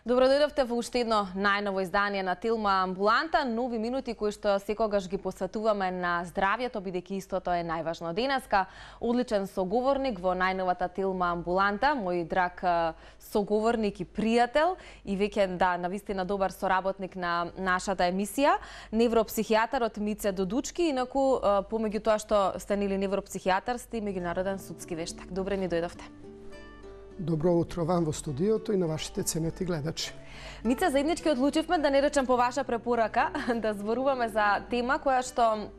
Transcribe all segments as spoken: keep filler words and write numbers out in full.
Добродојдовте во уште едно најново издание на Тилма Амбуланта, нови минути кои што секогаш ги посветуваме на здравјето, бидејќи истото е најважно. Денеска одличен соговорник во најновата Тилма Амбуланта, мој драг соговорник и пријател и веќе да навистина добар соработник на нашата емисија, невропсихијатарот Мице Додучки, инаку помеѓу тоа што сте нели невропсихијатар, сте и меѓународен судски вештак. Добре ни дојдовте. Добро утро вам во студиото и на вашите ценети гледачи. Мице, заеднички одлучивме да не речем по ваша препорака, да зборуваме за тема која што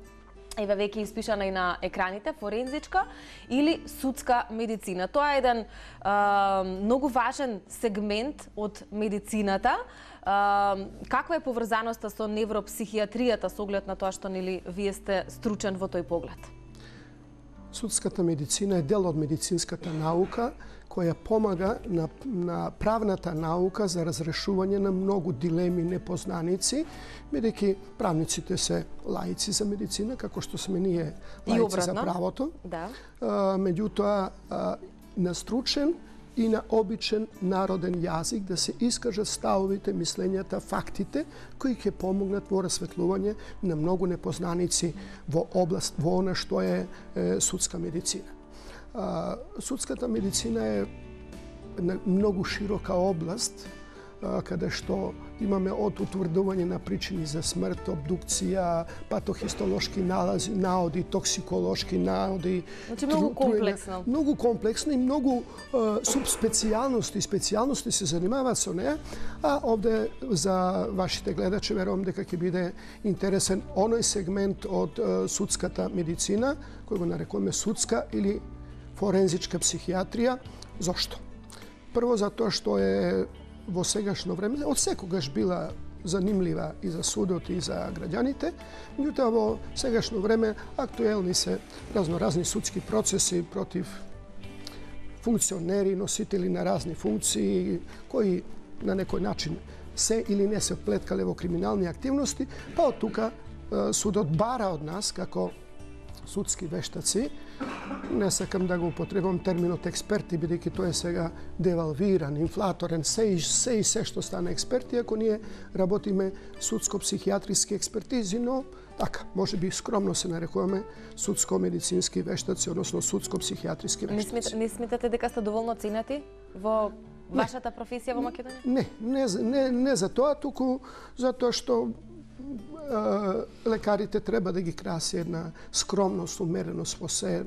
еве веќе испишана и на екраните, форензичка или судска медицина. Тоа е еден а, многу важен сегмент од медицината. А, каква е поврзаноста со невропсихијатријата со оглед на тоа што нели вие сте стручен во тој поглед? Судската медицина е дел од медицинската наука која помага на, на правната наука за разрешување на многу дилеми, непознаници, бидејќи правниците се лаици за медицина, како што сме ние лаици за правото. Да. А, меѓутоа, а, на стручен и на обичен народен јазик да се искажат ставовите, мислењата, фактите кои ќе помогнат во расветлување на многу непознаници во област, во она што е, е судска медицина. А, судската медицина е многу широка област, а, каде што имаме од утврдување на причини за смрт, обдукција, патохистолошки налази, наоди, токсиколошки наоди. Значи многу комплексно. Многу комплексно и многу а, субспецијалности и специјалности се занимаваат со неа, а овде за вашите гледачи верувам дека ќе биде интересен оној сегмент од а, судската медицина, кој го нарекуваме судска или форензичка психијатрија. Зошто? Прво затоа што е во сегашно време, од секогаш била занимлива и за судот и за граѓаните, меѓутоа во сегашно време актуелни се разноразни судски процеси против функционери, носители на разни функции, кои на некој начин се или не се вплеткале во криминални активности, па од тука судот бара од нас, како судски вештаци, не сакам да го употребам терминот експерти, бидејќи тој е сега девалвиран, инфлаторен, се и се, и се што стане експерти, ако ние работиме судско-психијатриски експертизи, но така, може би скромно се нарекуваме судско-медицински вештаци, односно судско-психијатриски вештаци. Не сметате дека сте доволно ценети во вашата професија во Македонија? Не, не, не, не за тоа, туку затоа што лекарите треба да ги краси една скромност, умереност во се,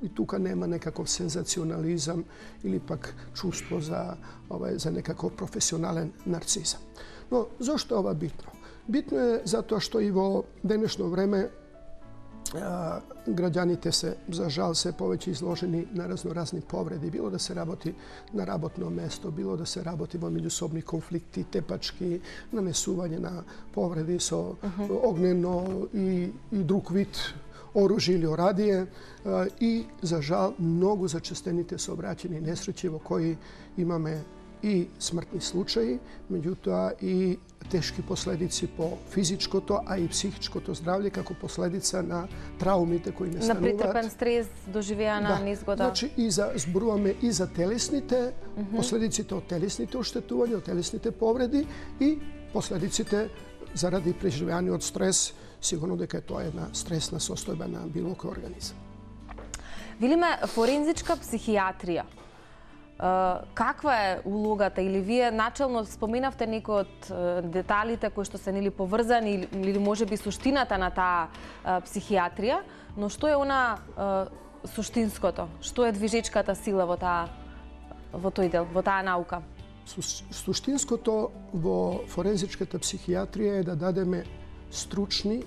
и тука нема некаков сензационализам или пак чувство за, ова, за некаков професионален нарцизам. Но зошто ова битно? Битно е затоа што и во денешно време а, граѓаните се, за жал, се повеќе изложени на разноразни повреди, било да се работи на работно место, било да се работи во меѓусобни конфликти, тепачки, нанесување на повреди со uh-huh. огнено и, и друг вид оружје или орадие, а, и за жал многу зачестените сообраќајни несреќи во кои имаме и смртни случаи, меѓутоа и тешки последици по физичкото, а и психичкото здравје како последица на траумите кои настануваат. На претрпен стрес, доживеана да. незгода. Значи и за зборуваме и за телесните, mm-hmm. последиците од телесните оштетувања, од телесните повреди и последиците заради преживеаниот стрес, сигурно дека е тоа една стресна состојба на било кој организам. Велиме форензичка психијатрија. Каква е улогата, или вие начелно споменавте некои од деталите кои што се нели поврзани или можеби суштината на таа психијатрија, но што е она суштинското? Што е движечката сила во таа во тој дел, во таа наука? Суштинското во форензичката психијатрија е да дадеме стручни,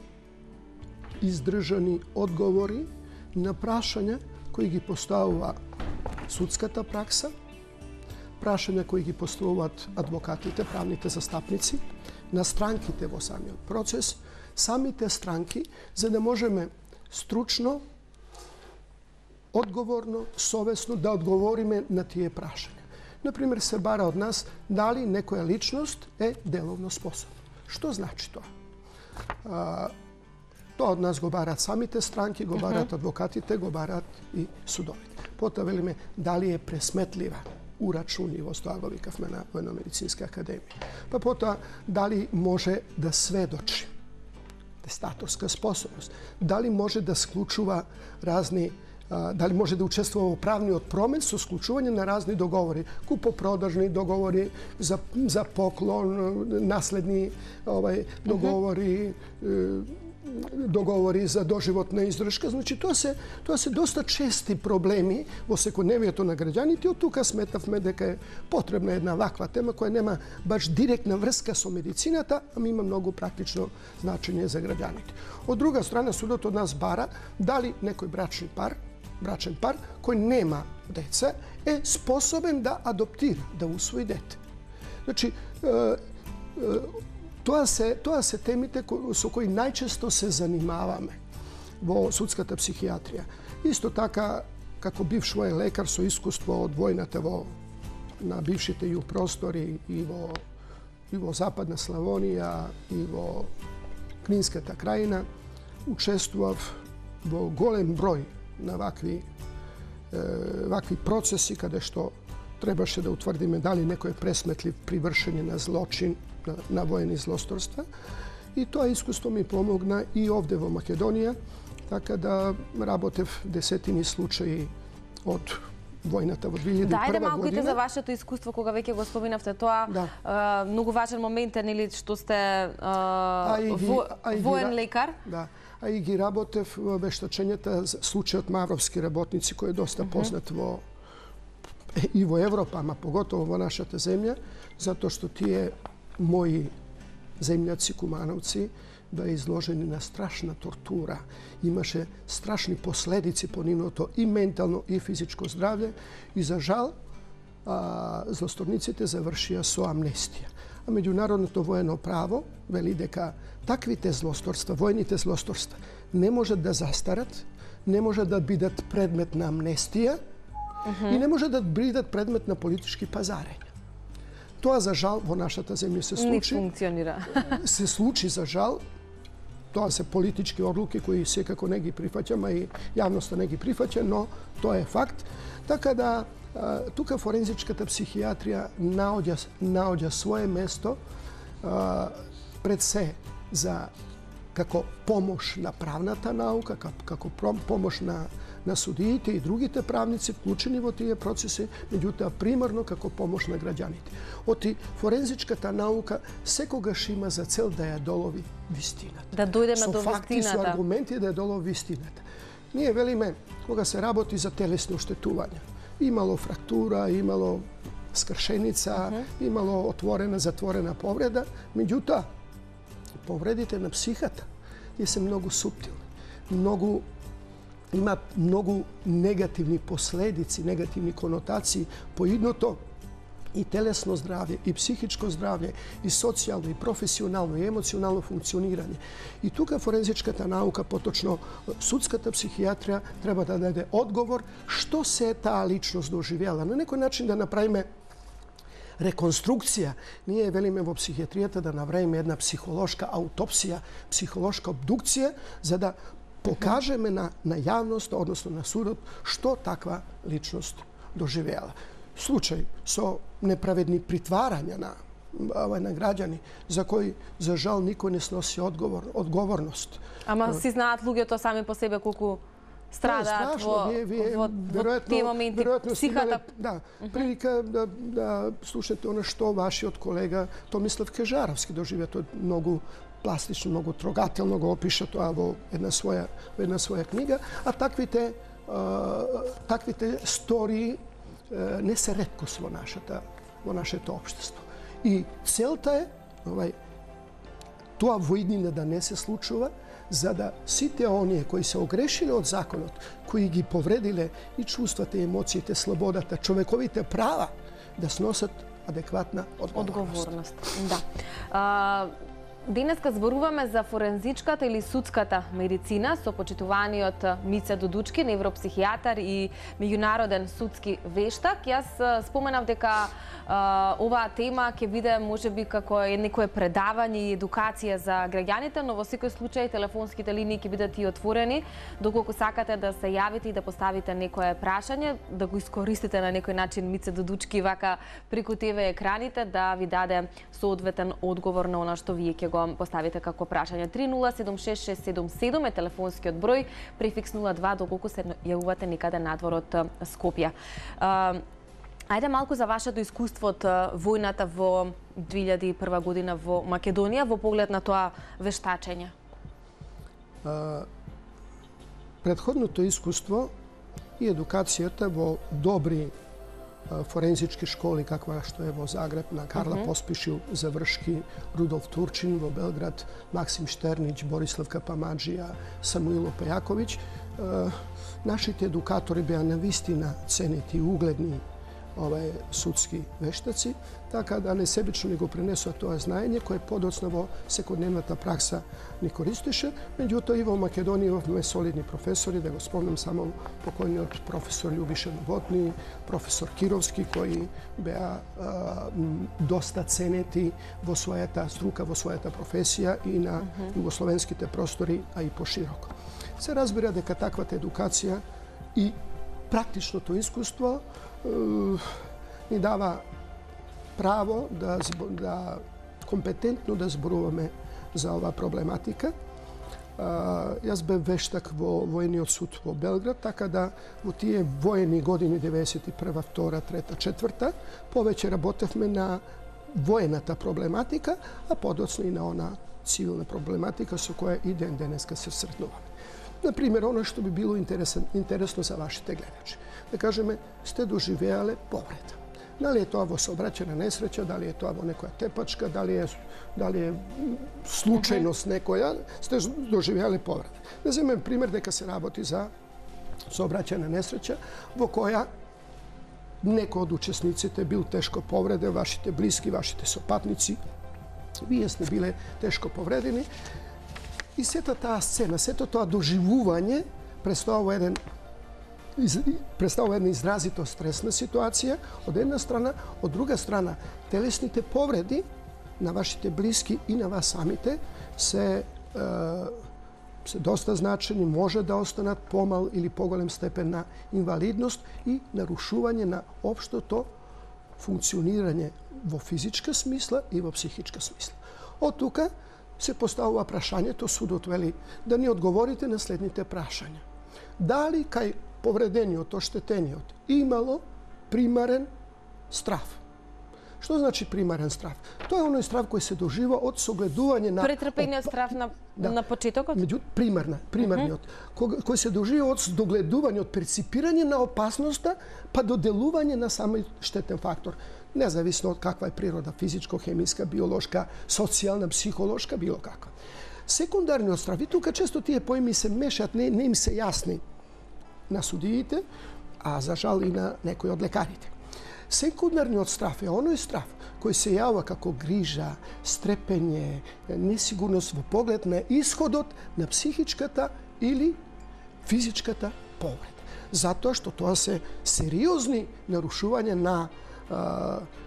издржани одговори на прашања кои ги поставува судската пракса, прашања кои ги поставуваат адвокатите, правните застапници, на странките во самиот процес, самите странки, за да можеме стручно, одговорно, совесно да одговориме на тие прашања. Например, се бара од нас дали некоја личност е деловно способна. Што значи тоа? А, тоа од нас го бараат самите странки, го бараат адвокатите, го бараат и судовите. Потоа велиме дали е пресметлива. урачуни во тоа го викавме на Военно-медицинска академија. Па потоа, дали може да сведочи, тестаторска способност, дали може да склучува разни, дали може да учествува во правниот промет со склучување на разни договори, купопродажни договори за за поклон, наследни овај договори, договори за доживотна издржка. Значи тоа се тоа се доста чести проблеми во секојдневието на граѓаните. Од тука сметавме дека е потребна една ваква тема која нема баш директна врска со медицината, ама има многу практично значење за граѓаните. Од друга страна, судот од нас бара дали некој брачни пар, брачен пар кој нема деца е способен да адоптира, да усвои дете. Значи, Тоа се, тоа се темите со кои најчесто се занимаваме во судската психијатрија. Исто така, како бивш воен лекар со искуство од војната во, на бившите југ простори и во, и во Западна Славонија и во Книнската крајина, учествував во голем број на вакви, е, вакви процеси каде што требаше да утврдиме дали некој е пресметлив при вршење на злочин, на, на воени злосторства. И тоа искуство ми помогна и овде во Македонија, така да работев десетини случаи од војната во две илјади и прва година. Дајде малку и за вашето искуство, кога веќе го споминавте тоа. Да. А, многу важен момент е, нели, што сте а, а ги, во, а воен ги, лекар. Да. А и ги работев во вештачењата случајот Мавровски работници, кој е доста познат uh -huh. во и во Европа, ама поготово во нашата земја, затоа што тие мои земјаци, кумановци, беа изложени на страшна тортура. Имаше страшни последици по нивното и ментално и физичко здравје и за жал а, злосторниците завршија со амнестија. А меѓународното воено право вели дека таквите злосторства, војните злосторства, не можат да застарат, не можат да бидат предмет на амнестија uh -huh. и не можат да бидат предмет на политички пазарења. Тоа за жал во нашата земја се случи. Не функционира. Се случи за жал. Тоа се политички одлуки кои секако не ги прифаќам, а и јавноста не ги прифаќа, но тоа е факт. Така да тука форензичката психијатрија наоѓа наоѓа свое место пред се за како помош на правната наука, како помош на на судиите и другите правници вклучени во тие процеси, меѓутоа примарно како помош на граѓаните. Оти форензичката наука секогаш има за цел да ја долови вистината. Да дојдеме со до факти, вистината. со аргументи да ја долови вистината. Ние велиме, кога се работи за телесни оштетувања, имало фрактура, имало скршеница, uh -huh. имало отворена, затворена повреда, меѓутоа повредите на психата тие се многу суптилни, многу има многу негативни последици, негативни конотации по идното и телесно здравје, и психичко здравје, и социјално, и професионално, и емоционално функционирање. И тука форензичката наука, поточно судската психијатрија, треба да даде одговор што се таа личност доживела. На некој начин да направиме реконструкција. Ние велиме во психијатријата да направиме една психолошка аутопсија, психолошка обдукција, за да покажеме на, на јавност, односно на судот, што таква личност доживеала. Случај со неправедни притварања на, на граѓани, за кои, за жал, никој не сноси одговор, одговорност. Ама си знаат луѓето сами по себе колку страдаат во, вие, вие, во, во тие моменти, психата. Да, прилика да, да слушате оно што вашиот колега Томислав Кежаровски доживеа. Тој многу пластично, многу трогателно го опиша тоа во една своја, во една своја книга, а таквите, а, таквите стории а, не се реткост во нашата, во нашето општество. И целта е овај, тоа во иднина да не се случува, за да сите оние кои се огрешиле од законот, кои ги повредиле и чувствата, и емоциите, слободата, човековите права, да сносат адекватна одговорност. Одговорност, да. А, Денеска зборуваме за форензичката или судската медицина со почитуваниот Мице Дудучки, невропсихијатар и меѓународен судски вештак. Јас споменав дека а, оваа тема ќе биде можеби како е некое предавање и едукација за граѓаните, но во секој случај телефонските линии ќе бидат и отворени, доколку сакате да се јавите и да поставите некое прашање, да го искористите на некој начин Мице Дудучки вака преку те ве екраните да ви даде соодветен одговор на она што вие ќе го поставите како прашање. три нула седум шест шест седум седум е телефонскиот број, префикс нула два доколку се јавувате некаде надвор од Скопје. Ајде малку за вашето искуство од војната во две илјади и прва година во Македонија во поглед на тоа вештачење. Предходното искуство и едукацијата во добри форензички школи, каква што е во Загреб, на Карла mm -hmm. Поспишил, Завршки, Рудолф Турчин, во Белград, Максим Штернич, Борислав Капамаджија, Самуило Пејаковиќ. Нашите едукатори беа навистина ценети и угледни овај судски вештаци, така да не себично ни го пренесува тоа знаење кое подоцна во секојдневната пракса ни користеше. Меѓутоа и во Македонија имавме солидни професори, да го спомнам само покојниот професор Љубиша Новотни, професор Кировски, кои беа а, доста ценети во својата струка, во својата професија и на југословенските простори, а и пошироко. Се разбира дека таквата едукација и практичното искуство ни дава право да, да компетентно да зборуваме за оваа проблематика. Јас бев вештак во војниот суд во Белград, така да во тие воени години деветдесет и прва, втора, трета, четврта повеќе работевме на воената проблематика, а подоцна и на она цивилна проблематика со која и ден денеска се сретнуваме. Например, оно што би било интересно за вашите гледачи. Да кажеме, сте доживеале повреда. Дали е тоа во сообраќајна несреќа, дали е тоа во некоја тепачка, дали е, дали е случајност некоја, сте доживеале повреда. Да земем пример дека се работи за сообраќајна несреќа во која некој од учесниците бил тешко повреден, вашите блиски, вашите сопатници, вие сте биле тешко повредени. И сета таа сцена, сето тоа доживување представува еден представува една изразито стресна ситуација од една страна, од друга страна телесните повреди на вашите блиски и на вас самите се се доста значени, може да останат помал или поголем степен на инвалидност и нарушување на општото функционирање во физичка смисла и во психичка смисла. Од тука се поставува прашањето, судот вели да ни одговорите на следните прашања. Дали кај повредениот, оштетениот имало примарен страв? Што значи примарен страв? Тоа е оној страв кој се дожива од согледување на претрпениот страв на да. на почетокот? Меѓу примарна, примарниот, uh -huh. кој се дожива од догледување, од перципирање на опасноста, па до делување на самиот штетен фактор. Независно од каква е природа, физичко, хемиска, биолошка, социјална, психолошка, било каква. Секундарниот страв, и тука често тие поими се мешат, не, не им се јасни на судиите, а за жал и на некои од лекарите. Секундарниот страв е оној страв кој се јавува како грижа, стрепење, несигурност во поглед на исходот на психичката или физичката повреда. Затоа што тоа се сериозни нарушување на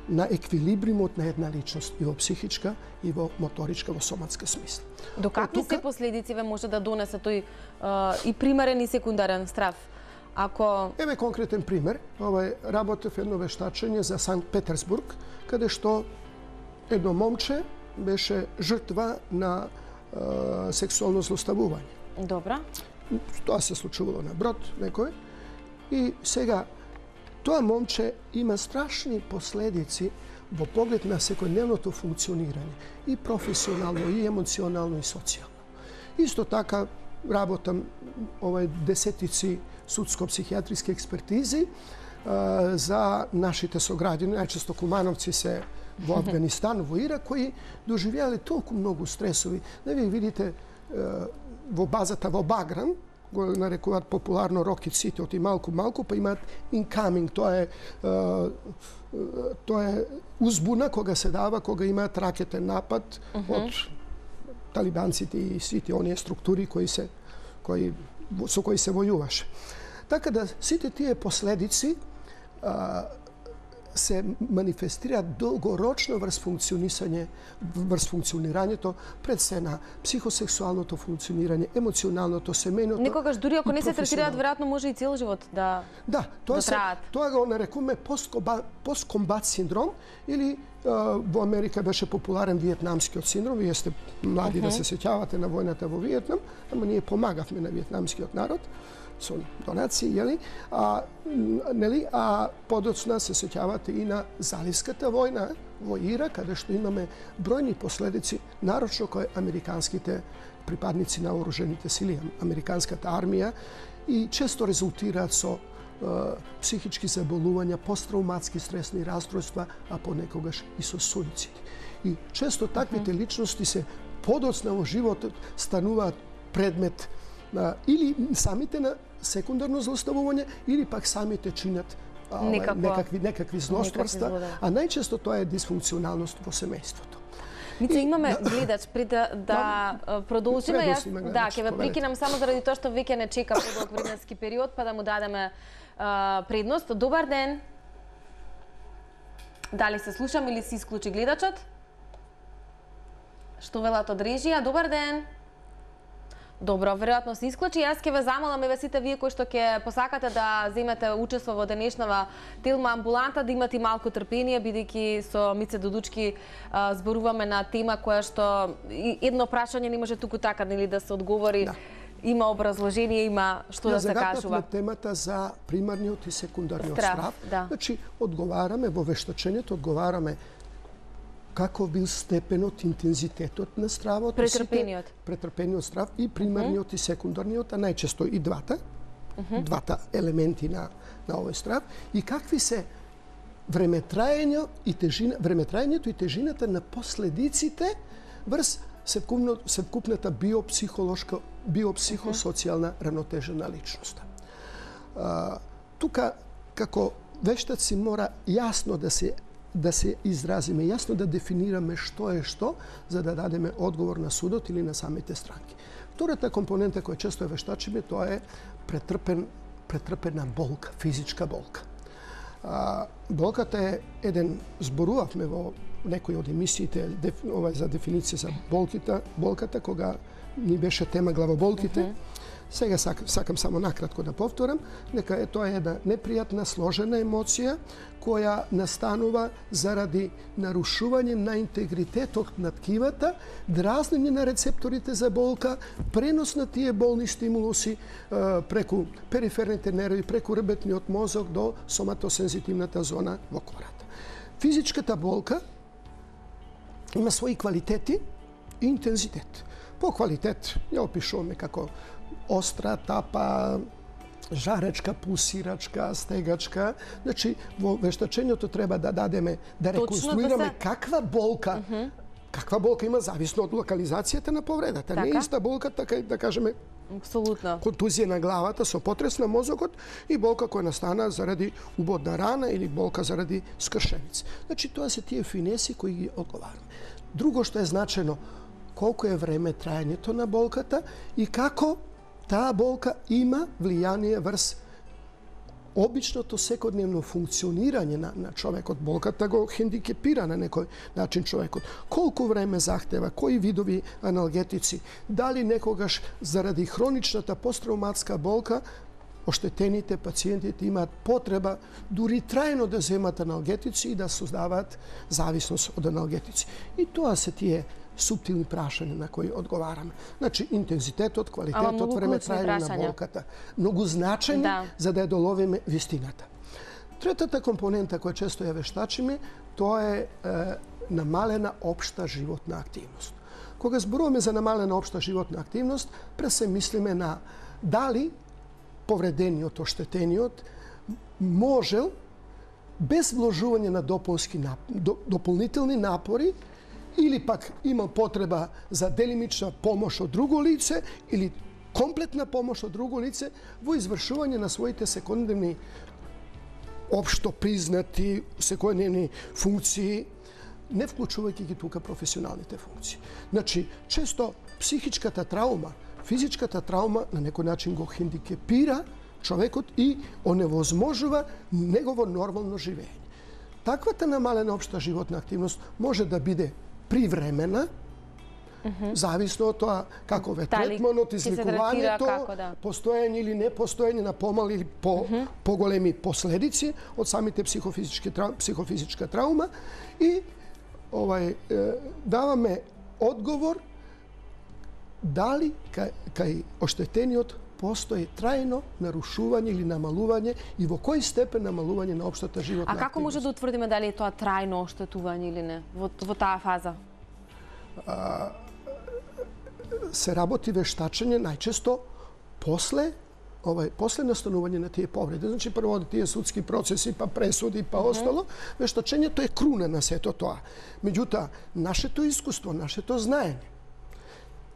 на еквилибримот на една личност и во психичка и во моторичка, во соматска смисла. До какви се последици ве може да донесе тој и примарен и секундарен страв? Ако... Еве конкретен пример. Ова работев едно вештачење за Санкт Петерсбург, каде што едно момче беше жртва на е, сексуално злоставување. Добра. Тоа се случувало на брод некој. И сега тоа момче има страшни последици во поглед на секојдневното функционирање, и професионално, и емоционално, и социјално. Исто така работам овај десетици судско-психијатриски експертизи а, за нашите сограѓани, најчесто кумановци се во Афганистан, во Ирак, кои доживеале толку многу стресови. Да ви видите во базата во Баграм, го нарекуваат популарно Rocket City, оти малку малку, па имаат incoming, тоа е тоа е узбуна кога се дава, кога имаат ракетен напад uh -huh. од талибанците и сите оние структури кои се кои со кои се војуваше. Така да сите тие последици а, се манифестираат долгорочно врз функционисање, врз функционирањето, пред се на психосексуалното функционирање, емоционалното, семејното. Некогаш дури ако не се третираат, веројатно може и цел живот да Да, тоа да се траат. тоа го нарекуваме посткомбат синдром или а, во Америка беше популарен виетнамскиот синдром. Вие сте млади uh -huh. да се сеќавате на војната во Виетнам, ама ние помагавме на виетнамскиот народ со донации, јели? А, нели? А подоцна се сеќавате и на Заливската војна во Ирак, каде што имаме бројни последици, нарочно кои американските припадници на вооружените сили, американската армија, и често резултираат со е, психички заболувања, посттравматски стресни расстройства, а понекогаш и со суициди. И често таквите личности се подоцна во животот стануваат предмет на, или самите на секундарно злоставување, или пак самите чинат а, Некаква, некакви некакви злостварства, некакви а најчесто тоа е дисфункционалност во семејството. Мица, имаме гледач, пред да, да продолжиме, јас, да, ќе ве прекинам само заради тоа што веќе не чека подолг временски период, па да му дадеме а, предност. Добар ден. Дали се слушам или се исклучи гледачот? Што велат од режија? Добар ден. Добро, веројатно се исклучи. Јас ќе ве замолам, еве сите вие кои што ќе посакате да земете учество во денешнава Тилма амбуланта, да имате малку трпение, бидејќи со Мице Додучки а, зборуваме на тема која што едно прашање не може туку така, нели, да се одговори. Да. Има образложение, има што да се кажува. Темата за примарниот и секундарниот страв. страв да. Значи, одговараме во вештачењето, одговараме каков бил степенот, интензитетот на стравот, претрпениот, претрпениот страв и примарниот uh -huh. и секундарниот, а најчесто и двата, uh -huh. двата елементи на на овој страв, и какви се времетраење и тежина, времетраењето и тежината на последиците врз севкупната биопсихолошка, биопсихосоцијална равнотежа на личноста. А, тука, како вештаци, мора јасно да се да се изразиме, јасно да дефинираме што е што, за да дадеме одговор на судот или на самите странки. Втората компонента која често е вештачиме, тоа е претрпен, претрпена болка, физичка болка. А, болката е еден, зборувавме во некои од емисиите деф, ова за дефиниција за болките, болката, кога ни беше тема главоболките. Uh -huh. Сега сак, сакам само накратко да повторам, нека е тоа една непријатна, сложена емоција која настанува заради нарушување на интегритетот на ткивата, дразнење на рецепторите за болка, пренос на тие болни стимулуси е, преку периферните нерви, преку ребетниот мозок до соматосензитивната зона во кората. Физичката болка има своји квалитети и интензитет. По квалитет ја опишуваме како остра, тапа, жаречка, пулсирачка, стегачка. Значи, во вештачењето треба да дадеме, да реконструираме да се... каква болка, uh -huh. каква болка има зависно од локализацијата на повредата. Така? Не е иста болка, така да кажеме, апсолутно, контузија на главата со потрес на мозокот и болка која настана заради убодна рана или болка заради скршеница. Значи, тоа се тие финеси кои ги одговараме. Друго што е значено, колку е време траењето на болката и како таа болка има влијание врз обичното секојдневно функционирање на, на човекот. Болката го хендикепира на некој начин човекот. Колку време захтева, кои видови аналгетици, дали некогаш заради хроничната посттравматска болка оштетените пациентите имаат потреба дури трајно да земат аналгетици и да создаваат зависност од аналгетици. И тоа се тие суптилни прашања на кои одговараме. Значи, интензитетот, квалитетот, време траење на болката. Многу значени да. За да ја доловиме вистината. Третата компонента која често ја вештачиме, тоа е, е намалена општа животна активност. Кога зборуваме за намалена општа животна активност, пред се мислиме на дали повредениот, оштетениот можел без вложување на дополнски дополнителни напори или пак има потреба за делимична помош од друго лице или комплетна помош од друго лице во извршување на своите секојдневни општо признати секојдневни функции, не вклучувајќи ги тука професионалните функции. Значи, често психичката траума, физичката траума на некој начин го хендикепира човекот и оневозможува негово нормално живење. Таквата намалена општа животна активност може да биде привремена, Mm-hmm. зависно од тоа каков е третманот, излекувањето, да. постоење или непостоење на помали или по, mm-hmm. поголеми последици од самите психофизички психофизичка траума и овај даваме одговор дали кај, кај оштетениот постои трајно нарушување или намалување и во кој степен намалување на општата животна активност. А како може да утврдиме дали е тоа трајно оштетување или не во, во таа фаза? А, се работи вештачење најчесто после овај после настанување на тие повреди. Значи прво од тие судски процеси, па пресуди, па mm-hmm. остало, вештачењето е круна на сето тоа. Меѓутоа, нашето искуство, нашето знаење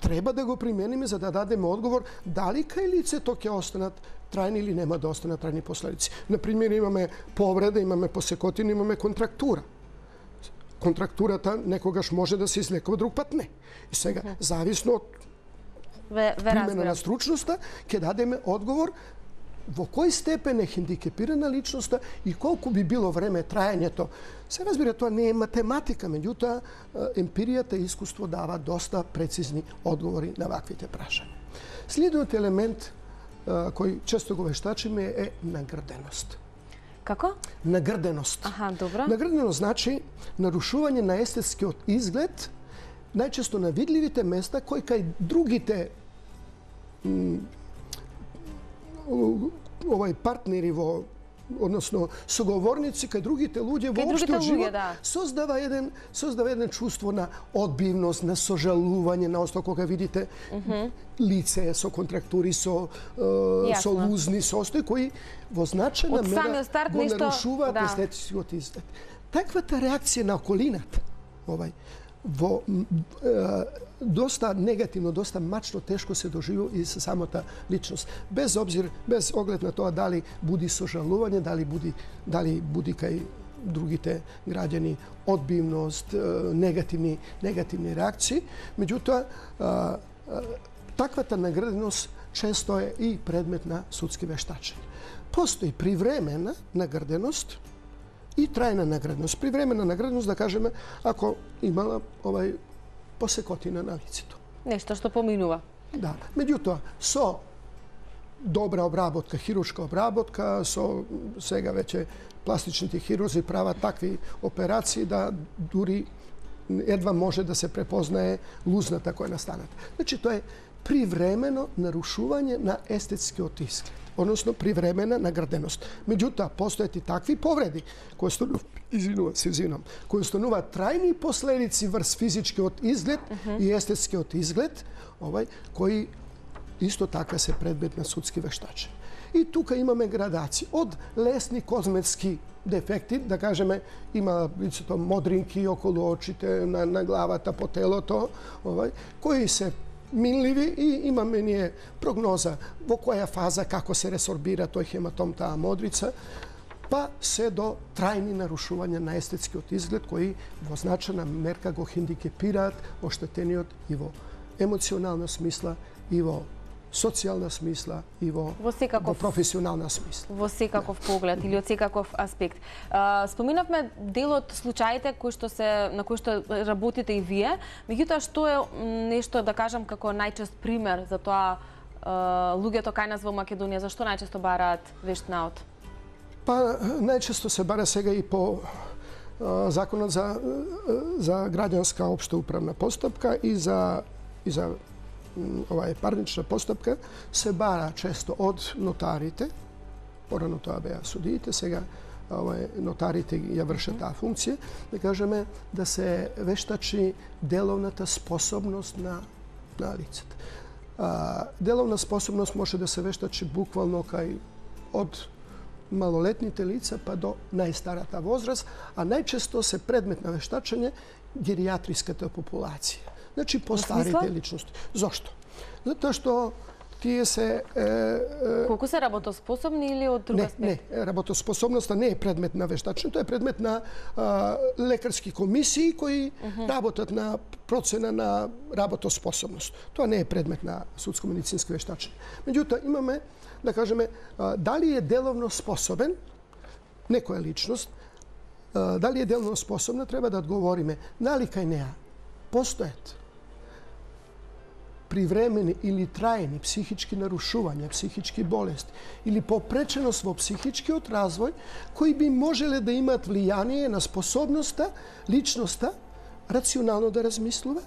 треба да го примениме за да дадеме одговор дали кај лицето ќе останат трајни или нема да останат трајни последици. На пример, имаме повреда, имаме посекотина, имаме контрактура. Контрактурата некогаш може да се излекува, друг пат не. И сега, mm-hmm. зависно од примена на стручноста, ќе дадеме одговор во кој степен е хендикепирана личноста и колку би било време трајањето. Се разбира, тоа не е математика, меѓутоа емпиријата и искуство дава доста прецизни одговори на ваквите прашања. Следниот елемент кој често го вештачиме е нагрденост. Како? Нагрденост. Аха, добро. Нагрденост значи нарушување на естетскиот изглед, најчесто на видливите места кои кај другите овај партнери во односно соговорници кај другите луѓе во општиот живот да. создава еден создава еден чувство на одбивност, на сожалување, на осто кога видите mm-hmm. лице со контрактури, со е, со лузни состои кои во значајна мера го нешто... нарушуваат да. естетскиот изглед. Таквата реакција на околината, овај во е, доста негативно, доста мачно, тешко се доживува и со самата личност. Без обзир, без оглед на тоа дали буди сожалување, дали буди, дали буди кај другите граѓани одбивност, негативни, негативни реакции. Меѓутоа, таквата награденост често е и предмет на судски вештачења. Постои привремена награденост и трајна награденост. Привремена награденост, да кажеме, ако имала овај посекотина на лицето. Нешто што поминува. Да. Меѓутоа, со добра обработка, хируршка обработка, со сега веќе пластичните хирурзи прават такви операции да дури едва може да се препознае лузната која настаната. Значи, тоа е привремено нарушување на естетскиот изглед, односно привремена награденост. Меѓутоа, постојат и такви повреди кои стануваат, извинувам се, извинувам, кои стануваат трајни последици врз физичкиот изглед uh-huh. и естетскиот изглед, овај кои исто така се предмет на судски вештачења. И тука имаме градации од лесни козметски дефекти, да кажеме, има лицето модринки околу очите, на, на главата, по телото, овај, кои се минливи и имаме ние прогноза во која фаза како се ресорбира тој хематом, таа модрица, па се до трајни нарушувања на естетскиот изглед кои во значајна мерка го хендикепираат оштетениот и во емоционална смисла, и во социјална смисла, и во, во, секаков, во професионална смисла. Во секаков да. поглед или од секаков аспект. А, споминавме дел од случаите кои што се на кои што работите и вие, меѓутоа што е нешто да кажам како најчест пример за тоа а, луѓето кај нас во Македонија зашто најчесто бараат вештнаут? Па најчесто се бара сега и по а, законот за за граѓанска општа управна постапка и за и за ова е парнична постапка, се бара често од нотарите, порано тоа беа судиите, сега ова е, нотарите ја вршат таа функција, да кажеме да се вештачи деловната способност на, на лицето. А, деловна способност може да се вештачи буквално кај од малолетните лица па до најстарата возраст, а најчесто се предмет на вештачење геријатриската популација. Значи, по старите личности. Зошто? Затоа што тие се... Колку се работоспособни или од друга аспект? Не, не, работоспособноста не е предмет на вештачење, тоа е предмет на а, лекарски комисии кои uh -huh. работат на процена на работоспособност. Тоа не е предмет на судско-медицинско вештачење. Меѓутоа, имаме, да кажеме, а, дали е деловно способен некоја личност, а, дали е деловно способна, треба да одговориме дали кај неа постојат привремени или трајни психички нарушувања, психички болести или попреченост во психичкиот развој, кои би можеле да имаат влијание на способноста личноста рационално да размислува,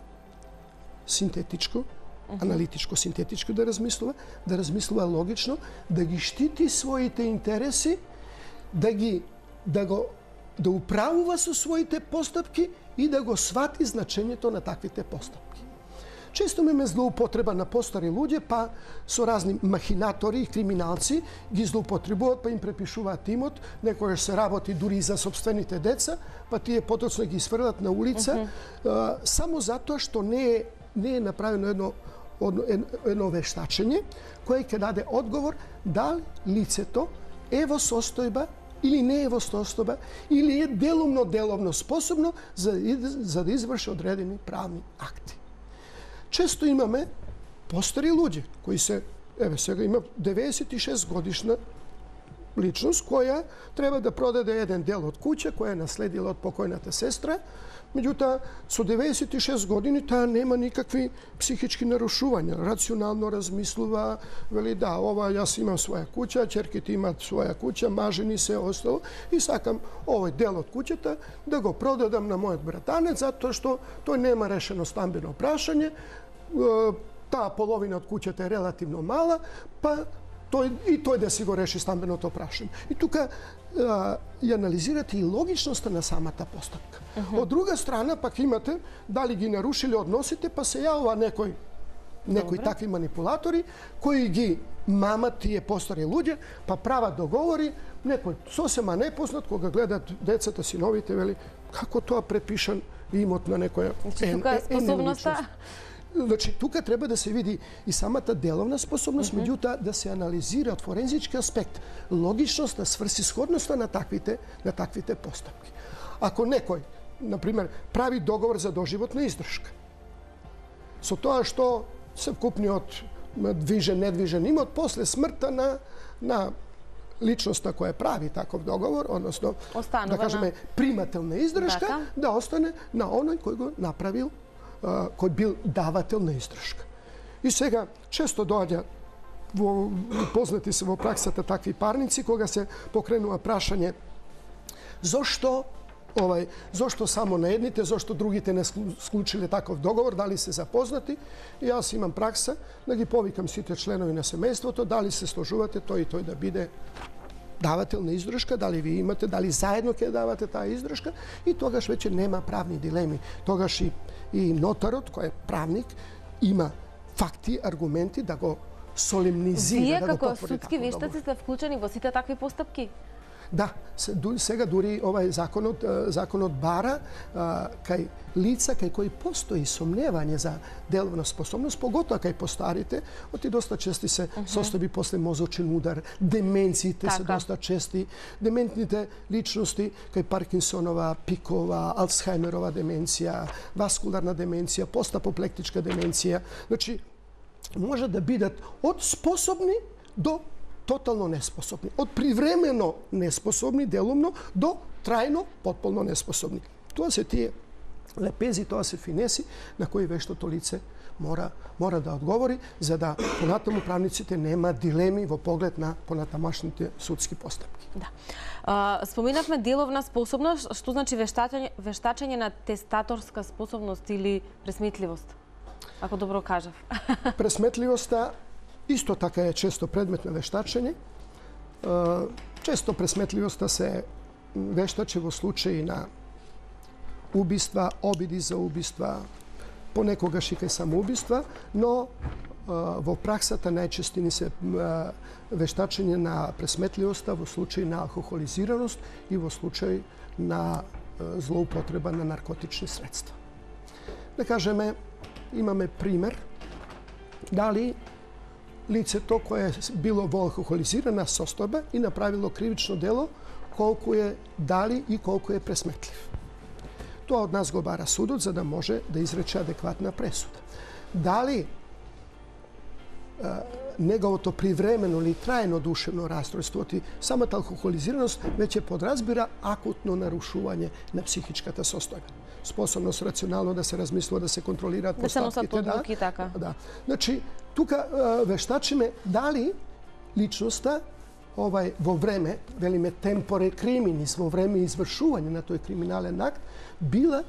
синтетичко, аналитичко, синтетичко да размислува, да размислува логично, да ги штити своите интереси, да ги да го да управува со своите постапки и да го свати значењето на таквите постапки. Често имаме злоупотреба на постари луѓе, па со разни махинатори и криминалци ги злоупотребуваат, па им препишуваат имот, некојаш се работи дури и за собствените деца, па тие потоцно ги сврлат на улица, uh -huh. само затоа што не е, не е направено едно, едно вештачење, кое ќе даде одговор дали лицето е во состојба или не е во состојба, или е делумно-деловно способно за, за да изврши одредени правни акти. Често имаме постари луѓе кои се, еве сега има деветдесет и шест годишна личност која треба да продаде еден дел од куќа која е наследила од покојната сестра, меѓутоа со деветдесет и шест години таа нема никакви психички нарушувања, рационално размислува, вели да, ова јас имам своја куќа, ќерките имаат своја куќа, мажени се остало и сакам овој дел од куќата да го продадам на мојот братанец затоа што тој нема решено стамбено прашање, таа половина од куќата е релативно мала, па тој, и тој да си го реши стамбеното прашање. И тука а, и анализирате и логичноста на самата постапка. Uh -huh. Од друга страна, пак имате дали ги нарушиле односите, па се јавува некој, некои такви манипулатори, кои ги мамат тие постари луѓе, па прават договори, некој сосема непознат, кога гледат децата, синовите, вели, како тоа препишан имот на некоја... Значи, тука е способноста... Значи, тука треба да се види и самата деловна способност, mm -hmm. меѓутоа да се анализира од форензички аспект логичноста, сврсисходноста на таквите, на таквите постапки. Ако некој, например, прави договор за доживотна издршка, со тоа што се вкупниот движен, недвижен имот, после смртта на, на личноста која прави таков договор, односно, Останува да кажеме, примател на издршка, Дака. да остане на оној кој го направил, кој бил давател на издршка. И сега често доаѓа во познати се во праксата такви парници кога се покренува прашање зошто овај зошто само на едните, зошто другите не склучиле таков договор, дали се запознати. И јас имам пракса да ги повикам сите членови на семејството, дали се сложувате тој и тој да биде давател на издршка, дали ви имате, дали заедно ќе давате таа издршка, и тогаш веќе нема правни дилеми. Тогаш и, и нотарот, кој е правник, има факти, аргументи да го солемнизира, Вие, да го потврди. Вие како судски вештаци сте вклучени во сите такви постапки? Да, сега дури овај законот, законот бара а, кај лица кај кои постои сомневање за деловна способност, поготоа кај постарите, оти доста чести се uh -huh. состојби после мозочен удар, деменциите така. се доста чести, дементните личности кај Паркинсонова, Пикова, Алцхаймерова деменција, васкуларна деменција, постапоплектичка деменција, значи може да бидат од способни до тотално неспособни. Од привремено неспособни, делумно, до трајно, потполно неспособни. Тоа се тие лепези, тоа се финеси на кои вештото лице мора, мора да одговори, за да понатаму правниците нема дилеми во поглед на понатамашните судски постапки. Да. А, споменавме деловна способност, што значи вештачење, вештачење на тестаторска способност или пресметливост? Ако добро кажав. Пресметливоста исто така е често предмет на вештачење. Често пресметливоста се вештачи во случаи на убиства, обиди за убиства, понекогаш и кај самоубиства, но во праксата најчесто ни се вештачење на пресметливоста во случаи на алкохолизираност и во случаи на злоупотреба на наркотични средства. Да кажеме, имаме пример дали лицето кое е било во алкохолизирана состојба и направило кривично дело, колку е дали и колку е пресметлив. Тоа од нас го бара судот за да може да изрече адекватна пресуда. Дали а, неговото привремено или трајно душевно расстройство, ти самата алкохолизираност веќе подразбира акутно нарушување на психичката состојба. Способност рационално да се размислува, да се контролираат постапките. Да, одлуки, така. Да. Значи, тука вештачиме дали личноста овај во време, велиме темпоре криминис, во време извршување на тој криминален акт, била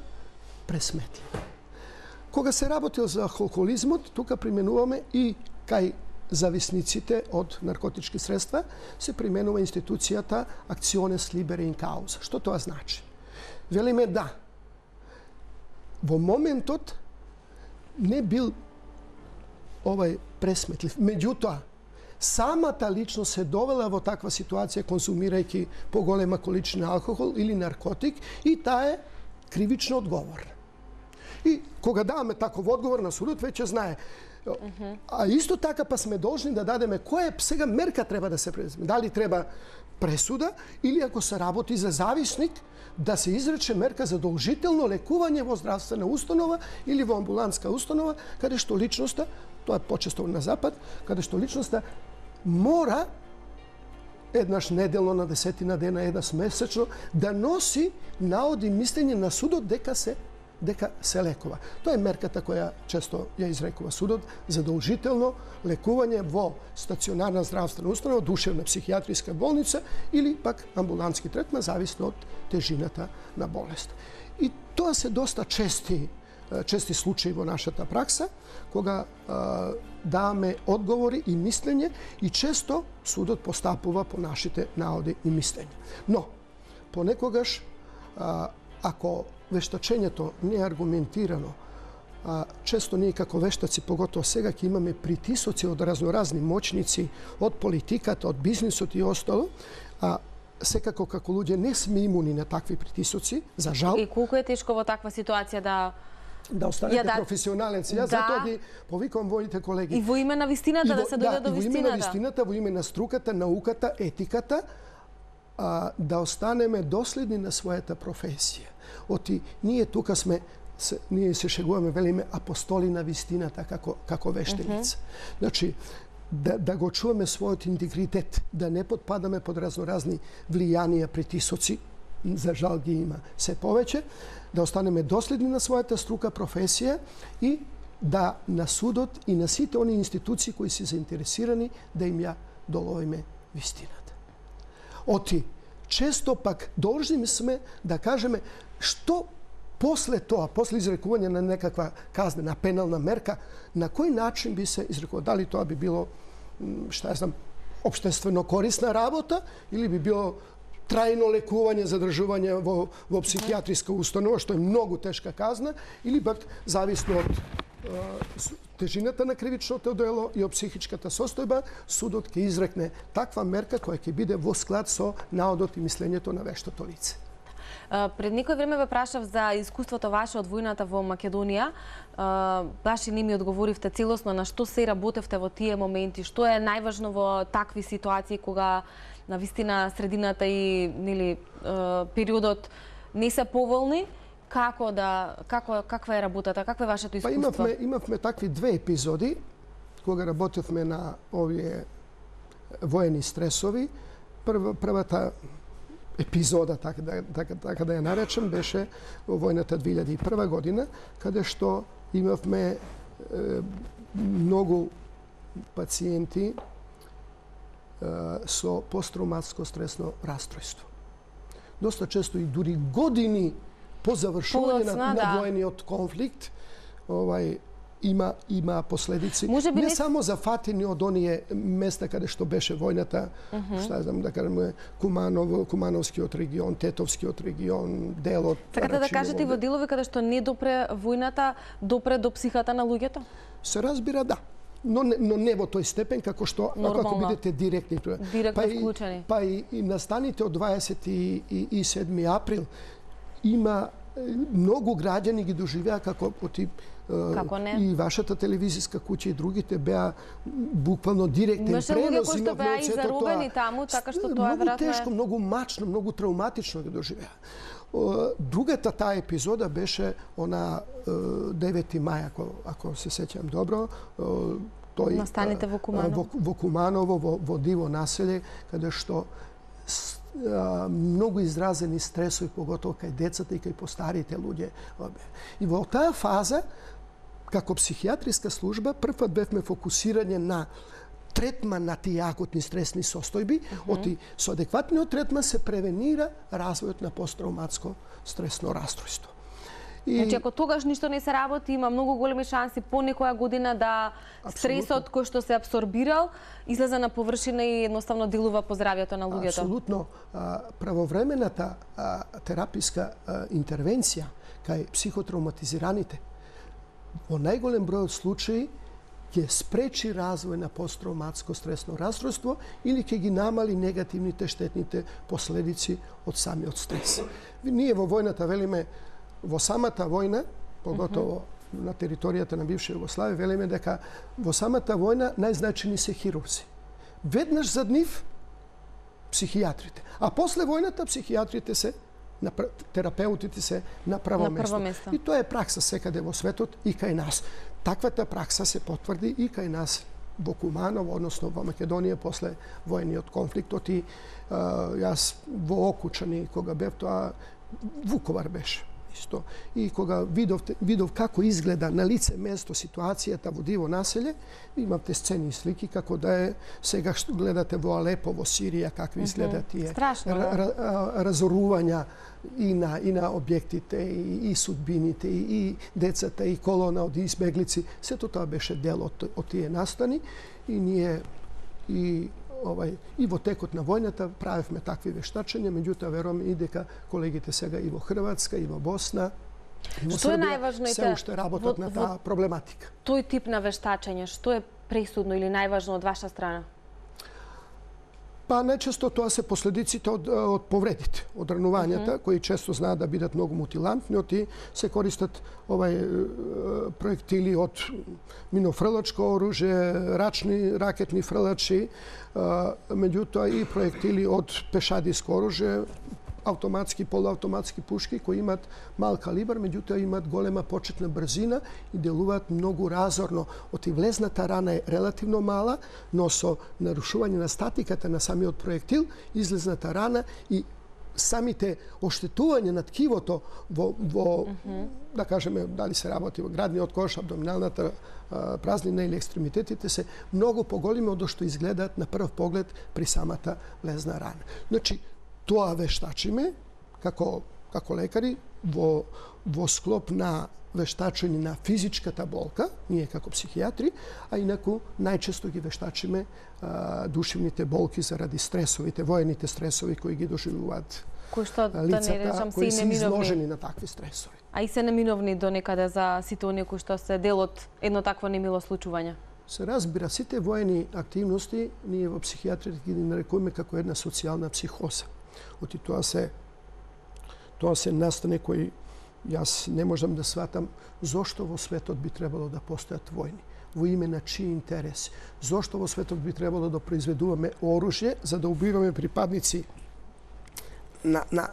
пресметлива. Кога се работил за алкохолизмот, тука применуваме и кај зависниците од наркотички средства, се применува институцијата actiones libere in causa. Што тоа значи? Велиме да, во моментот не бил овај пресметлив. Меѓутоа, самата личност се довела во таква ситуација консумирајќи поголема количина алкохол или наркотик и таа е кривично одговорна. И кога даваме таков одговор на судот, веќе знае. А исто така па сме должни да дадеме која сега мерка треба да се преземе. Дали треба пресуда или ако се работи за зависник, да се изрече мерка задолжително лекување во здравствена установа или во амбулантска установа, каде што личноста, тоа е почесто на запад, каде што личноста мора еднаш неделно, на десетина дена, еднаш месечно, да носи наоди мислење на судот дека се дека се лекува. Тоа е мерката која често ја изрекува судот, задолжително лекување во стационарна здравствена установа, душевна психијатриска болница или пак амбулантски третман, зависно од тежината на болест. И тоа се доста чести чести случаи во нашата пракса, кога а, даваме одговори и мислење и често судот постапува по нашите наоди и мислења. Но, понекогаш, а, ако вештачењето не е аргументирано, а, често ние како вештаци, поготово сега, ќе имаме притисоци од разноразни моćници, од политиката, од бизнисот и остало, а секако како луѓе не сме имуни на такви притисоци, за жал. И колку е тешко во таква ситуација да да останете да, професионален. Јас да, затоа ги повикувам воите колеги. И во име на вистината во, да се дојде да, до вистината. И во име на вистината, во име на струката, науката, етиката, а, да останеме доследни на својата професија. Оти ние тука сме се, ние се шегуваме, велиме апостоли на вистината како како вештеница. Mm -hmm. Значи да, да го чуваме својот интегритет, да не подпадаме под разноразни влијанија, притисоци, за жал ги има се повеќе, да останеме доследни на својата струка, професија и да на судот и на сите они институции кои се заинтересирани да им ја доловиме вистината. Оти, често пак должни сме да кажеме што после тоа, после изрекување на некаква казнена пенална мерка, на кој начин би се изрекувало? Дали тоа би било, што ја знам, општествено корисна работа или би било трајно лекување, задржување во, во психијатриска установа, што е многу тешка казна, или пак зависно од е, тежината на кривичното дело и од психичката состојба, судот ќе изрекне таква мерка која ќе биде во склад со наодот и мислењето на вештото лице. Пред некој време ве прашав за искуството ваше од војната во Македонија. Баш и не ми одговоривте целосно на што се работевте во тие моменти, што е најважно во такви ситуации кога на вистина средината и нели периодот не се поволни, како да како каква е работата, каква е вашето искуство? Па имавме имавме такви две епизоди кога работевме на овие воени стресови. Прва првата епизода, така да, така, така да ја наречем, беше во војната две илјади и прва година, каде што имавме е, многу пациенти е, со посттравматско стресно расстройство. Доста често и дури години по завршување на, на да. воениот конфликт, овај има има последици не, не само зафатени од оние места каде што беше војната, uh -huh. што знам да кажеме Куманов, Кумановскиот регион, Тетовскиот регион, делот. Сакате да кажете во делови каде што не допре војната, допре до психата на луѓето? Се разбира, да. Но не, но не во тој степен како што Нормално. Ако бидете директни тоа. Директно па вклучени. И, па и, и настаните од дваесет и седми април има многу граѓани ги доживеа како оти Како не? И вашата телевизиска куќа и другите беа буквално директен пренос. Имаше луѓе кои што беа и заробени таму, така што тоа многу веројатно тешко, многу мачно, многу травматично ги доживеа. Другата таа епизода беше она девети мај, ако, ако се сеќам добро, тој настаните во Куманово, во, во Куманово, во, во диво населје, каде што многу изразени стресови, поготово кај децата и кај постарите луѓе. И во таа фаза, како психијатриска служба, првпат бевме фокусирање на третман на тие акутни стресни состојби, mm -hmm. оти со адекватниот третман се превенира развојот на посттравматско стресно расстройство. И... Значи, ако тогаш ништо не се работи, има многу големи шанси по некоја година да стресот кој што се абсорбирал излезе на површина и едноставно делува по здравјето на луѓето. Апсолутно. Правовремената тераписка интервенција кај психотравматизираните во најголем број од случаи ќе спречи развој на посттравматско стресно расстройство или ќе ги намали негативните штетните последици од самиот стрес. Ние во војната велиме, во самата војна, поготово mm -hmm. на територијата на бивша Југославија, велиме дека во самата војна најзначени се хирурзи. Веднаш зад нив психијатрите, а после војната психијатрите се на терапеутите се на прво, на место. прво место. И тоа е пракса секаде во светот и кај нас. Таквата пракса се потврди и кај нас во Куманово, односно во Македонија после војниот конфликтот и а, јас во Окучани кога бев, тоа Вуковар беше исто. И кога видов, видов како изгледа на лице место ситуацијата во диво населје, имавте сцени и слики како да е сега што гледате во Алепо, во Сирија, какви изгледа тие разорувања и на, и на објектите, и, и судбините, и, и децата, и колона од избеглици. Сето тоа беше дел од, од тие настани и ние и Овај, и во текот на војната правевме такви вештачења, меѓутоа верувам и дека колегите сега и во Хрватска, и во Босна, и во што е Србија најважно се уште работат во, на таа проблематика. Тој тип на вештачење, што е пресудно или најважно од ваша страна? Па најчесто тоа се последиците од, од повредите, од ранувањата, mm -hmm. кои често знаат да бидат многу мутилантни, оти се користат овај проектили од минофрлачко оружје, рачни ракетни фрлачи, меѓутоа и проектили од пешадиско оружје, автоматски, полуавтоматски пушки кои имат мал калибар, меѓутоа имат голема почетна брзина и делуваат многу разорно. Оти влезната рана е релативно мала, но со нарушување на статиката на самиот проектил, излезната рана и самите оштетување на ткивото во, во mm -hmm. да кажеме, дали се работи во градниот кош, абдоминалната а, празнина или екстремитетите се многу поголеми од што изгледаат на прв поглед при самата влезна рана. Значи, тоа вештачиме како, како лекари во, во склоп на вештачење на физичката болка, ние како психијатри, а инаку најчесто ги вештачиме а, душевните болки заради стресовите, воените стресови кои ги доживуваат кои што, да не речам, кои се се неминовни. изложени на такви стресови. А и се неминовни до некаде за сите оние кои што се дел од едно такво немило случување? Се разбира, сите воени активности ние во психијатрија ги нарекуваме како една социјална психоза. Оти тоа се тоа се настане кои јас не можам да сватам зошто во светот би требало да постојат војни, во име на чии интереси. Зошто во светот би требало да произведуваме оружје за да убиваме припадници на, на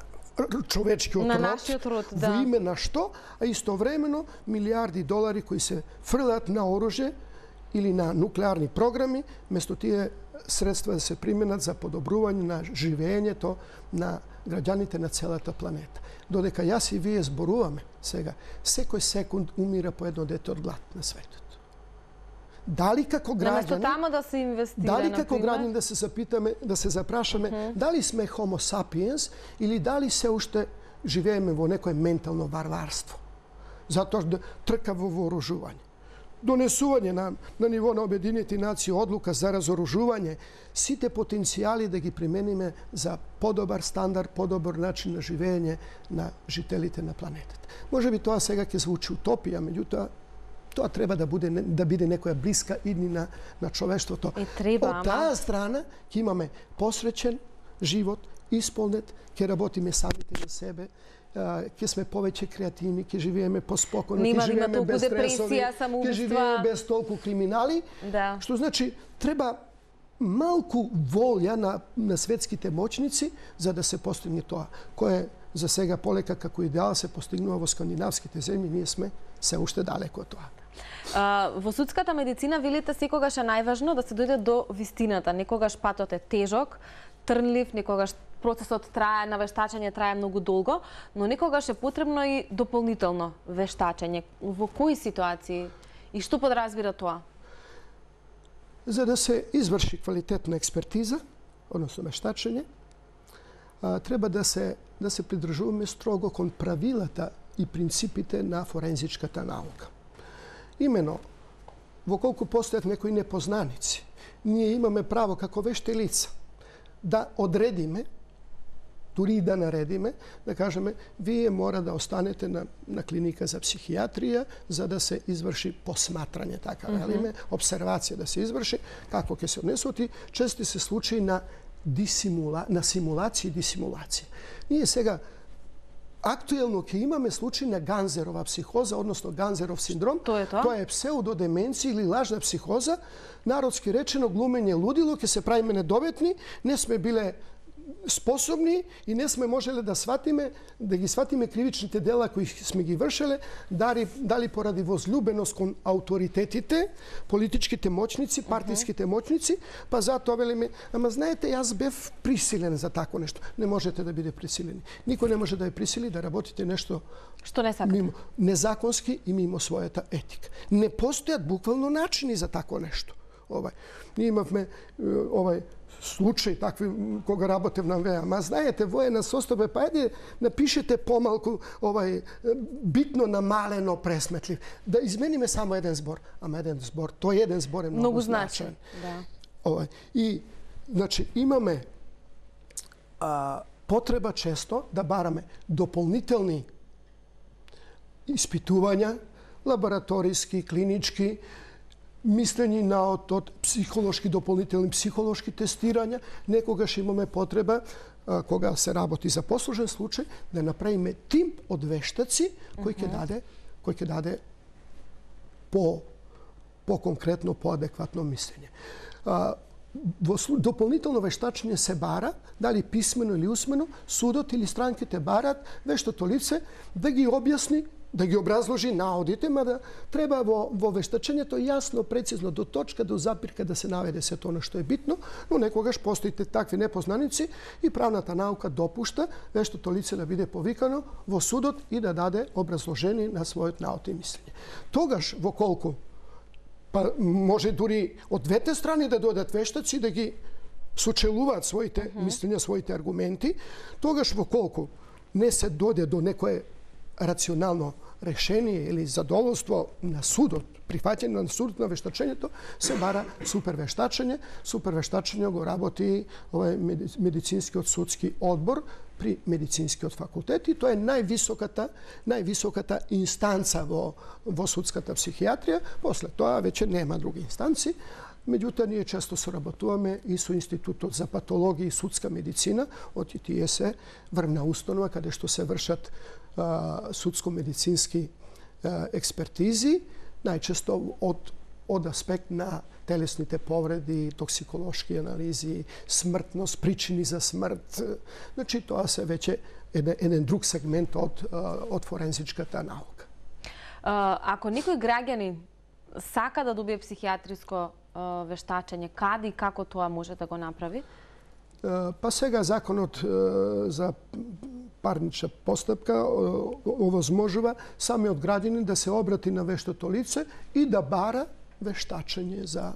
човечкиот на род, нашиот род, да. Во име на што, а истовремено милиарди долари кои се фрлаат на оружје или на нуклеарни програми, место тие средства да се применат за подобрување на живењето на граѓаните на целата планета. Додека јас и вие зборуваме сега, секој секунд умира по едно дете од глад на светот. Дали како граѓани, тамо да се инвестира, дали како например? граѓани да се запитаме, да се запрашаме, uh -huh. дали сме homo sapiens или дали се уште живееме во некое ментално варварство. Затоа да трка во вооружување. Донесување на, на ниво на Обединените нации одлука за разоружување, сите потенцијали да ги примениме за подобар стандард, подобар начин на живење на жителите на планетата. Може би тоа сега ќе звучи утопија, меѓутоа тоа треба да буде да биде некоја блиска иднина на човештвото. Е, треба, Од таа страна ќе имаме посреќен живот исполнет, ќе работиме самите за себе, ќе сме повеќе креативни, ќе живееме поспокойно, ќе живееме без стресови, ќе живееме без толку криминали, да. Што значи треба малку волја на, на светските моќници за да се постигне тоа. Кој е за сега полека како идеал се постигнува во скандинавските земји, ние сме се уште далеко од тоа. А, во судската медицина велите секогаш е најважно да се дојде до вистината. Некогаш патот е тежок, трнлив, некогаш процесот трае на вештачење трае многу долго, но некогаш е потребно и дополнително вештачење. Во кои ситуации и што подразбира тоа? За да се изврши квалитетна експертиза, односно вештачење, треба да се да се придржуваме строго кон правилата и принципите на форензичката наука. Имено, во колку постојат некои непознаници, ние имаме право како вешти лица да одредиме, дури и да наредиме, да кажеме, вие мора да останете на, на клиника за психијатрија за да се изврши посматрање, така велиме, mm -hmm. обсервација да се изврши, како ќе се однесоти, чести се случаи на дисимула, на симулација и дисимулација. Ние сега актуелно ќе имаме случај на Ганзерова психоза, односно Ганзеров синдром. Тоа е тоа? Тоа е псевдодеменција или лажна психоза. Народски речено, глумење лудило, ќе се правиме недоветни, не сме биле способни и не сме можеле да сватиме, да ги сватиме кривичните дела кои сме ги вршеле, дали, дали поради возлюбеност кон ауторитетите, политичките моćници, партиските моćници, па затоа велиме, ама знаете, јас бев присилен за тако нешто. Не можете да биде присилени. Никој не може да ја присили да работите нешто што не сакате. Мимо, незаконски и мимо својата етика. Не постојат буквално начини за тако нешто. Овај. Ние имавме овај случај такви кога работев на ВЕА. Ма знаете, воена состојба, па еде напишете помалку овај битно намалено пресметлив. Да измениме само еден збор. Ама еден збор, тој еден збор е многу, многу значаен. Да. Овај. И значи имаме а, потреба често да бараме дополнителни испитувања, лабораториски, клинички, мислени на од, од психолошки, дополнителни психолошки тестирања. Некогаш имаме потреба, а, кога се работи за послужен случај, да направиме тим од вештаци кој ќе даде, кој ќе даде по по конкретно, по адекватно мислење. А, во дополнително вештачење се бара, дали писмено или усмено, судот или странките барат вештото лице да ги објасни, да ги образложи наодите, мада треба во, во вештачењето јасно, прецизно, до точка, до запирка да се наведе се тоа што е битно, но некогаш постоите такви непознаници и правната наука допушта вештото лице да биде повикано во судот и да даде образложение на својот наод и мислење. Тогаш, во колку, па може дури од двете страни да дојдат вештаци да ги сочелуваат своите uh -huh. мислења, своите аргументи, тогаш во колку не се дојде до некое рационално решение или задоволство на судот, прифаќање на судот на вештачењето, се бара супервештачење. Супервештачење го работи овој медицинскиот судски одбор при медицинскиот факултет и тоа е највисоката највисоката инстанца во во судската психијатрија. После тоа веќе нема други инстанци. Меѓутоа, ние често соработуваме и со Институтот за патологија и судска медицина од И Т И С, врвна установа каде што се вршат судско-медицински експертизи, најчесто од, од аспект на телесните повреди, токсиколошки анализи, смртност, причини за смрт. Значи, тоа се веќе еден, еден друг сегмент од, од форензичката наука. Ако некој граѓанин сака да добие психијатриско вештачење, каде и како тоа може да го направи? Па сега законот за парнична постапка овозможува самиот граѓанин да се обрати на вештото лице и да бара вештачење за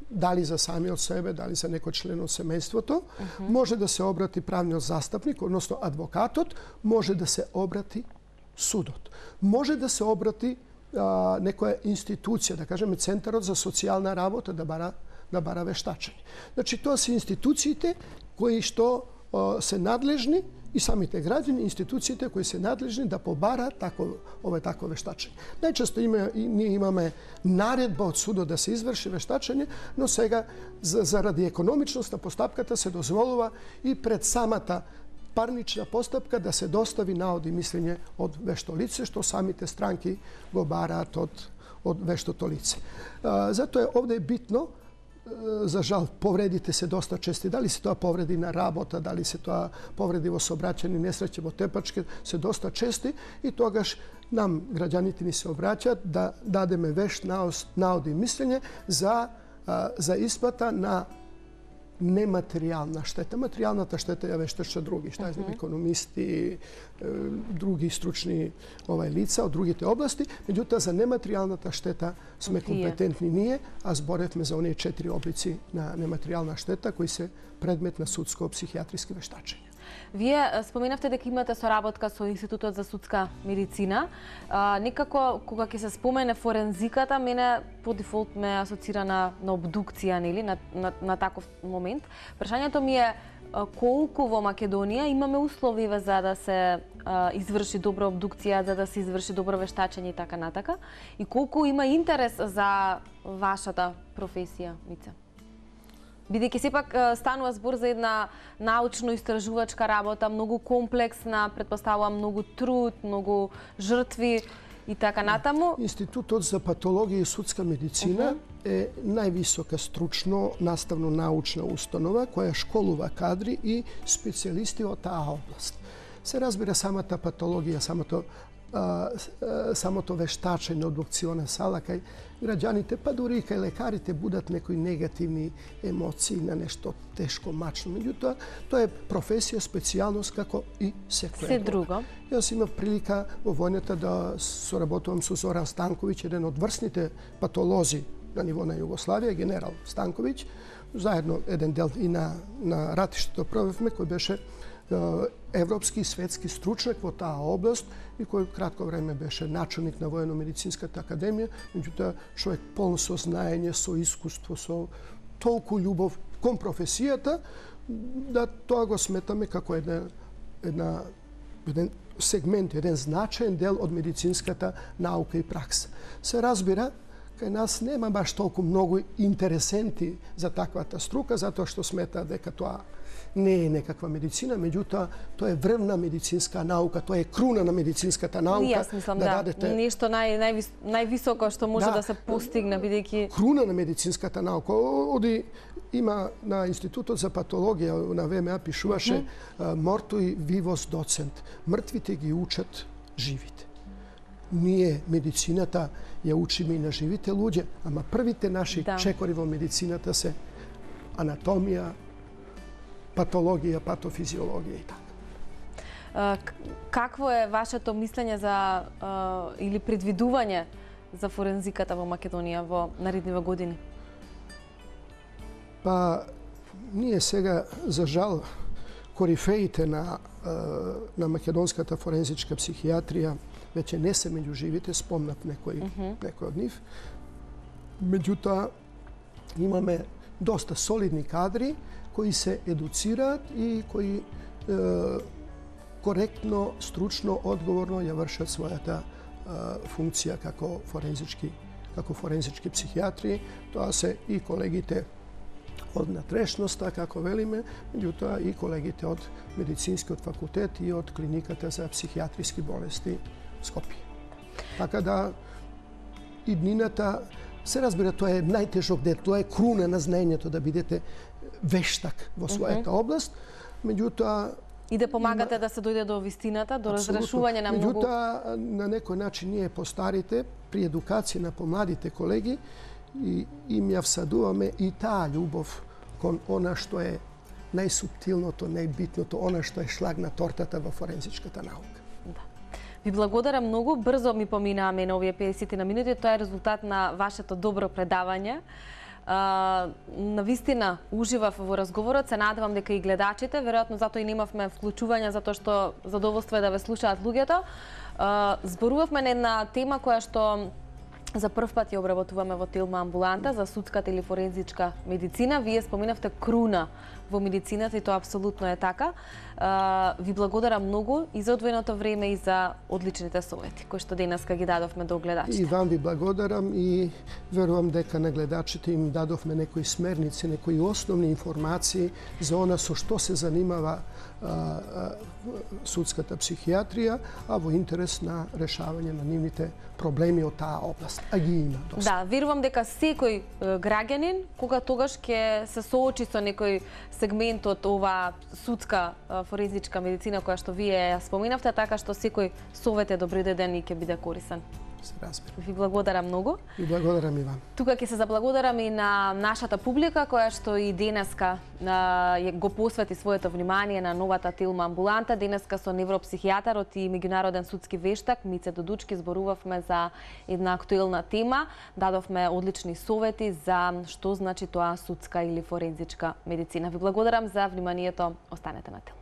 дали за самиот себе, дали за некој член од семејството. Uh -huh. Може да се обрати правниот застапник, односно адвокатот, може да се обрати судот. Може да се обрати а, некоја институција, да кажеме Центарот за социјална работа да бара да бара вештачење. Значи, тоа се институциите кои што а, се надлежни и самите граѓани, институциите кои се надлежни да побараат тако, ове такво вештачење. Најчесто има, и, ние имаме наредба од судот да се изврши вештачење, но сега за, заради економичност на постапката се дозволува и пред самата парнична постапка да се достави наод и мислење од вешто лице, што самите странки го бараат од, од вештото лице. А, затоа е овде е битно, за жал, повредите се доста чести. Дали се тоа повреди на работа, дали се тоа повреди во сообраќајни несреќи, во тепачки, се доста чести и тогаш нам, граѓаните ни се обраќаат да дадеме вешт наод и мислење за, за исплата на нематеријална штета. Материјалната штета ја вешташе други, што знам, економисти, други стручни овај лица од другите области, меѓутоа за нематеријалната штета сме компетентни ние, а зборевме за оние четири облици на нематеријална штета кои се предмет на судско-психијатриски вештачења. Вие споменавте дека имате соработка со Институтот за судска медицина. А, некако, кога ќе се спомене форензиката, мене по дефолт ме асоцира на, на обдукција, нели, на, на, на таков момент. Прашањето ми е колку во Македонија имаме услови за да се а, изврши добра обдукција, за да се изврши добро вештачење и така натака, и колку има интерес за вашата професија, Мица? Бидејќи сепак станува збор за една научно-истражувачка работа, многу комплексна, претпоставувам многу труд, многу жртви и така натаму. Институтот за патологија и судска медицина uh -huh. е највисока стручно наставно научна установа која школува кадри и специјалисти од таа област. Се разбира самата патологија, самото а, самото вештачење, обдукциона сала кај граѓаните, па дури и кај лекарите будат некои негативни емоции на нешто тешко, мачно. Меѓутоа, тоа е професија, специјалност како и секоја Се друго. Јас имав прилика во војната да соработувам со Зоран Станковиќ, еден од врсните патолози на ниво на Југославија, генерал Станковиќ, заедно еден дел и на, на ратиштето провевме, кој беше европски и светски стручнак во таа област и кој кратко време беше начелник на Воено-медицинската академија, меѓутоа човек полн со знаење, со искуство, со толку љубов кон професијата, да тоа го сметаме како една, една, еден сегмент, еден значаен дел од медицинската наука и пракса. Се разбира, кај нас нема баш толку многу интересенти за таквата струка, затоа што смета дека тоа не е некаква медицина, меѓутоа тоа е врвна медицинска наука, тоа е круна на медицинската наука. Јас мислам, да, да радете... нешто нај, највис... највисоко што може да, да се постигне, бидејќи... Круна на медицинската наука. Оди има на Институтот за патологија на ВМА пишуваше mm -hmm. мортуи вивос доцент. Мртвите ги учат живите. Ние медицината ја учиме и на живите луѓе, ама првите наши да. чекори во медицината се анатомија, патологија, патофизиологија и така. Какво е вашето мислење за или предвидување за форензиката во Македонија во наредниве години? Па, ние сега, за жал, корифеите на, на македонската форензичка психијатрија веќе не се меѓу живите, спомнав некој, uh -huh. некој од нив. Меѓутоа, имаме доста солидни кадри кои се едуцираат и кои е, коректно, стручно, одговорно ја вршат својата е, функција како форензички, како форензички психијатри. Тоа се и колегите од натрешноста, како велиме, меѓутоа и колегите од медицинскиот факултет и од клиниката за психијатриски болести Скопје. Така да и днината, се разбира, тоа е најтежок дел, тоа е круна на знаењето да бидете вештак во својата uh -huh. област, меѓутоа и да помагате има... да се дојде до вистината, до разрешување на многу... Меѓутоа, на некој начин ние постарите, при едукација на помладите колеги, и им ја всадуваме и таа љубов кон она што е најсуптилното, најбитното, она што е шлаг на тортата во форензичката наука. Да. Ви благодарам многу, брзо ми поминаа мене овие педесет на минути, тоа е резултат на вашето добро предавање. Uh, навистина уживав во разговорот, се надевам дека и гледачите, веројатно затоа и немавме вклучување, затоа што задоволство е да ве слушаат луѓето. Uh, зборувавме на една тема која што За прв пат ја обработуваме во Тилма амбуланта за судската или форензичка медицина. Вие споменавте круна во медицината и тоа апсолутно е така. Ви благодарам многу и за одвоеното време и за одличните совети кои што денеска ги дадовме до гледачите. И вам ви благодарам и верувам дека на гледачите им дадовме некои смерници, некои основни информации за она со што се занимава а, а, судската психијатрија, а во интерес на решавање на нивните проблеми од таа област. А ги има доста. Да, верувам дека секој граѓанин, кога тогаш ќе се соочи со некој сегмент од ова судска форензичка медицина која што вие ја споменавте, така што секој совет е добри ден и ќе биде корисен. Се разбира. Ви благодарам многу. И благодарам и вам. Тука ќе се заблагодарам и на нашата публика која што и денеска а, го посвети своето внимание на новата Тилма амбуланта. Денеска со невропсихијатарот и меѓународен судски вештак Мице Додучки зборувавме за една актуелна тема. Дадовме одлични совети за што значи тоа судска или форензичка медицина. Ви благодарам за вниманието. Останете на Тилма.